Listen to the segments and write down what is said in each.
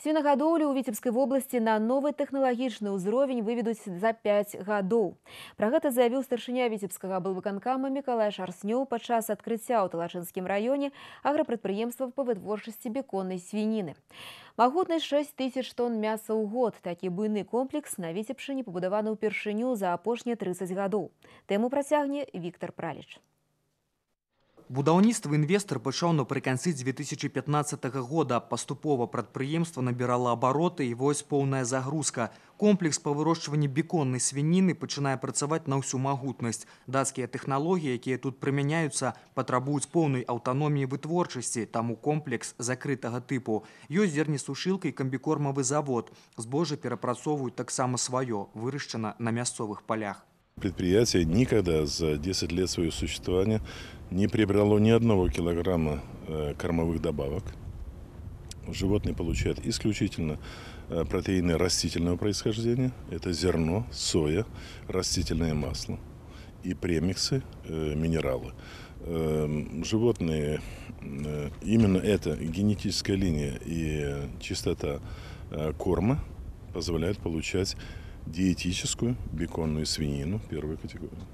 Свінагадоўлю ў Віцебскай вобласці на новы тэхналагічны ўзровень выведуць за 5 гадоў. Пра гэта заявіў старшыня Віцебскага аблвыканкама Мікалай Шарснёў падчас адкрыцця ў Талачынскім раёне аграпрадпрыемства па вытворчасці беконнай свініны. Магутнасць 6 тысяч тонн мяса ў год. Такі буйны комплекс на Віцебшчыне пабудаваны ўпершыню за апошнія 30 гадоў. Тэму працягне Віктор Праліч. Будаўніцтва інвестар пачаў напрыканцы 2015 года. Паступова прадпрыемства набірала абароты і вось поўная загрузка. Комплекс па вырошчванні беконнай свініны пачынае працаваць на ўсю магутнасць. Дацкія тэхналогіі, якія тут прымяняюцца, патрабуюць поўнай аўтаноміі вытворчасці, таму комплекс закрытага тыпу. Ёсць зернесушылка і камбікормавы завод. Збожжа перапрацоўваюць таксама сваё, вырашчана на мясцовых полях. Предприятие никогда за 10 лет своего существования не приобрело ни одного килограмма кормовых добавок. Животные получают исключительно протеины растительного происхождения. Это зерно, соя, растительное масло и премиксы, минералы. Животные, именно эта генетическая линия и чистота корма позволяют получать диетическую беконную свинину первой категории.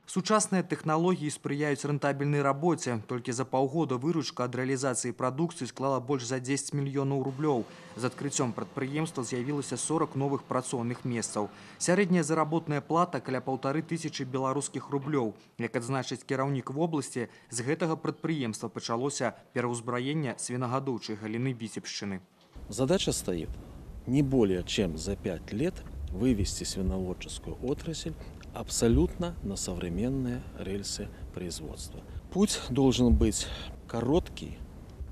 Сучасныя тэхналогіі спрыяюць рэнтабельнай рабоце. Толькі за паўгода выручка ад рэалізацыі прадукцыі склала больш за 10 мільёнаў рублёў. З адкрыццём прадпрыемства з'явілася 40 новых працоўных месцаў. Сярэдняя заработная плата каля 1500 беларускіх рублёў. Як адзначыць кіраўнік вобласці, з гэтага прадпрыемства пачалося пераўзбраенне свінагадоўчай галіны Віцебшчыны. Задача стоит не более чем за 5 лет вывести свиноводческую отрасль абсолютно на современные рельсы производства. Путь должен быть короткий,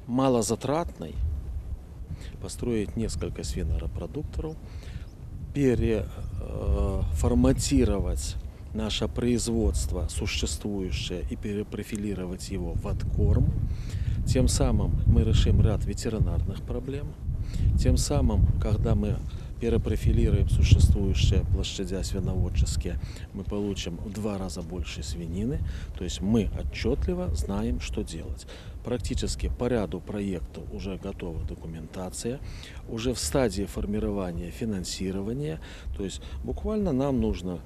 малозатратный, построить несколько свинорепродукторов, переформатировать наше производство существующее и перепрофилировать его в откорм. Тем самым мы решим ряд ветеринарных проблем. Тем самым, когда мы перепрофилируем существующие площадя свиноводческие, мы получим в 2 раза больше свинины. То есть мы отчетливо знаем, что делать. Практически по ряду проектов уже готова документация, уже в стадии формирования финансирования. То есть буквально нам нужно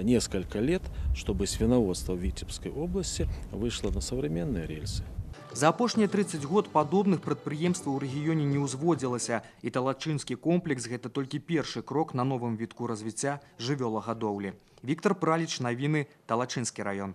несколько лет, чтобы свиноводство в Витебской области вышло на современные рельсы. За апошнія 30 год падобных прадпрыемстваў у рэгіёне не ўзводзілася, і Талачынскі комплекс – гэта толькі першы крок на новым вітку развіцця жывёлагадоўлі. Віктор Праліч, навіны, Талачынскі раён.